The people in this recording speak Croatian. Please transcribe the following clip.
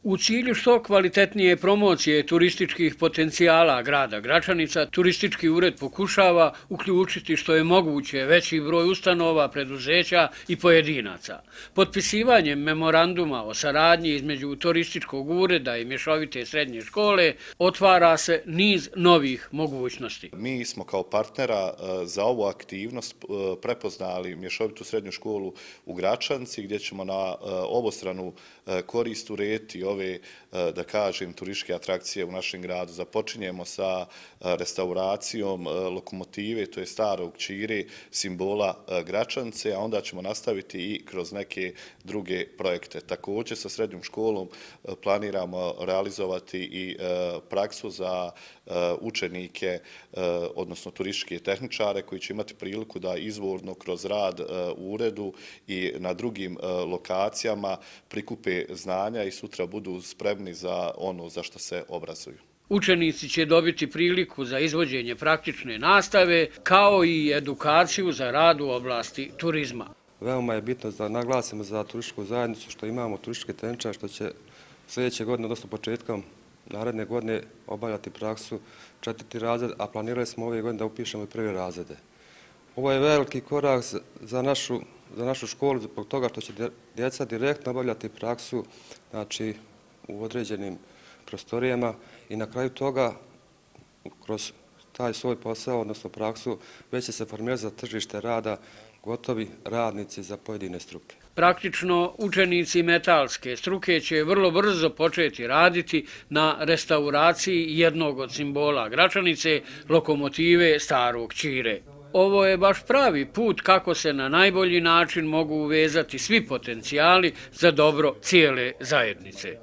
U cilju što kvalitetnije promocije turističkih potencijala grada Gračanica, turistički ured pokušava uključiti što je moguće veći broj ustanova, preduzeća i pojedinaca. Potpisivanjem memoranduma o saradnji između turističkog ureda i mješovite srednje škole otvara se niz novih mogućnosti. Mi smo kao partnera za ovu aktivnost prepoznali mješovitu srednju školu u Gračanci, gdje ćemo na obostranu korist urediti ove, da kažem, turističke atrakcije u našem gradu. Započinjemo sa restauracijom lokomotive, to je starog Ćire, simbola Gračance, a onda ćemo nastaviti i kroz neke druge projekte. Također sa srednjom školom planiramo realizovati i praksu za učenike, odnosno turističke tehničare koji će imati priliku da izvorno kroz rad u uredu i na drugim lokacijama prikupe znanja i sutra budu spremni za ono za što se obrazuju. Učenici će dobiti priliku za izvođenje praktične nastave kao i edukaciju za rad u oblasti turizma. Veoma je bitno da naglasimo za turističku zajednicu što imamo turističke tehničare što će sljedeće godine, odnosno početkom naredne godine, obavljati praksu 4. razred, a planirali smo ove godine da upišemo i 1. razrede. Ovo je veliki korak za našu školu zbog toga što će djeca direktno obavljati praksu, znači, u određenim prostorijama i na kraju toga kroz taj svoj posao, odnosno praksu, već će se formirati za tržište rada gotovi radnici za pojedine struke. Praktično, učenici metalske struke će vrlo brzo početi raditi na restauraciji jednog od simbola Gračanice, lokomotive starog Ćire. Ovo je baš pravi put kako se na najbolji način mogu uvezati svi potencijali za dobro cijele zajednice.